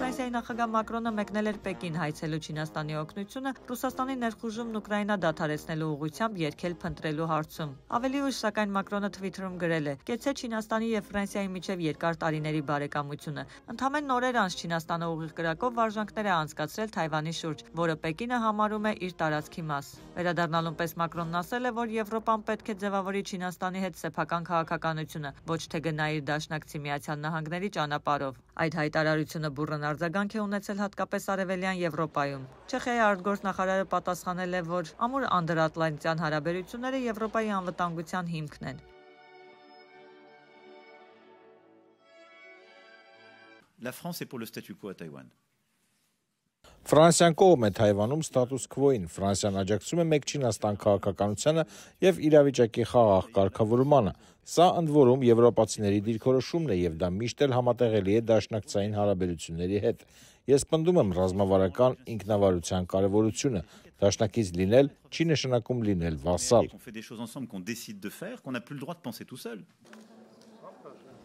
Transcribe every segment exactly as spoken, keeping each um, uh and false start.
Ֆրանսիայի նախագահ Մակրոնը մեկնել էր Պեկին հայցելու Չինաստանի օգնությունը Ռուսաստանի ներխուժումն Ուկրաինա դադարեցնելու ուղղությամբ երգել փնտրելու հարցում։ Ավելի ուշ, սակայն Մակրոնը Թվիթերում գրել է. «Կեցցե Չինաստանի եւ Ֆրանսիայի միջև երկար տարիների բարեկամությունը»։ Ընդամենը օրեր անց Չինաստանը ուղիղ կրակով վարժանքներ է անցկացրել Թայվանի շուրջ, որը Պեկինը համարում է իր տարածքի մաս։ Վերադառնալուն պես Մակրոնն ասել է, որ Եվրոպան պետք է ձևավորի Չինաստանի հետ սեփական քաղաքականությունը, ոչ թե գնա իր դաշնակցի Միացյալ Նահանգների ճանապարհով։ Այդ հայտարարությունը բուռն արձագանք է ունեցել հատկապես Արևելյան Եվրոպայում։ Չեխիայի արտգործնախարարը պատասխանել է, որ ամուր անդրատլանտյան հարաբերությունները Եվրոպայի անվտանգության հիմքն են։ La France est pour le statu quo à Taïwan. Ֆրանսիան կողմ է Թայվանում ստատուս քվոին, Ֆրանսիան աջակցում է մեկ Չինաստան քաղաքականությանը եւ իրավիճակի խաղաղ կարգավորմանը։ Սա ընդ որում եվրոպացիների դիրքորոշումն է եւ դա միշտ էլ համատեղելի է դաշնակցային հարաբերությունների հետ։ Ես պնդում եմ ռազմավարական ինքնավարության կարեւորությունը։ Դաշնակից լինել չի նշանակում լինել վասալ։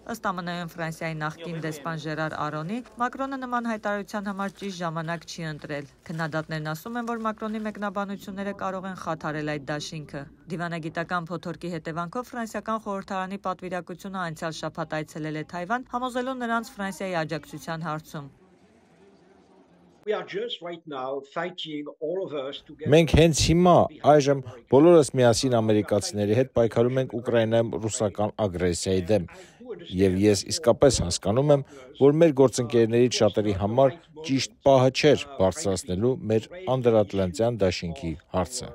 Ըստ Է Մը Ֆրանսիայի նախկին դեսպան Ժերար Արոնի, Մակրոնը նման հայտարարության համար ճիշտ ժամանակ չի ընտրել։ Քննադատներն ասում են, որ Մակրոնի մեկնաբանությունները կարող են խաթարել այդ դաշինքը։ Դիվանագիտական փոթորկի հետևանքով ֆրանսիական խորհրդարանի պատվիրակությունը անցյալ շաբաթ այցելել է Թայվան, համոզելու նրանց Ֆրանսիայի աջակցության հարցում։ Մենք հենց հիմա այժմ բոլորս միասին ամերիկացիների հետ պայքարում ենք Ուկրաինայում ռուսական ագրեսիայի դեմ, եւ ես իսկապես հասկանում եմ, որ մեր գործընկերներից շատերի համար ճիշտ պահը չէր բարձրացնելու մեր անդրատլանտյան դաշինքի հարցը։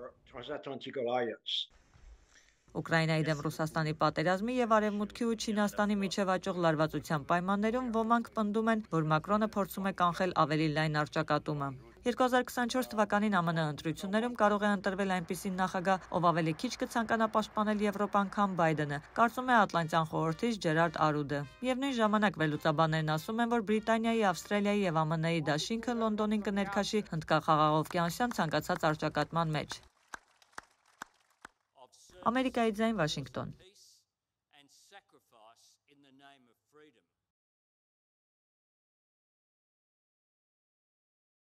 Ուկրաինայի դեմ Ռուսաստանի պատերազմի եւ Արևմուտքի ու Չինաստանի միջև աճող լարվածության պայմաններում ոմանք պնդում են, որ Մակրոնը փորձում է կանխել ավելի լայն առճակատումը։ երկու հազար քսանչորս թվականին Է Մը Նե ընտրություններում կարող է ընտրվել այնպիսի նախագահ, ով ավելի քիչ կցանկանա պաշտպանել Եվրոպան, քան Բայդենը, կարծում է Ատլանտյան խորհրդից Ջերարդ Արուդը։ Միևնույն ժամանակ վերլուծաբաններն ասում են, որ Բրիտանիայի, Ավստրալիայի եւ Է Մը Նե-ի դաշինքը Լոնդոնին կներքաշի հնդկախաղաղովկիանոսյան ցանկացած առճակատման մեջ։ Ամերիկայի ձայն, Վաշինգտոն։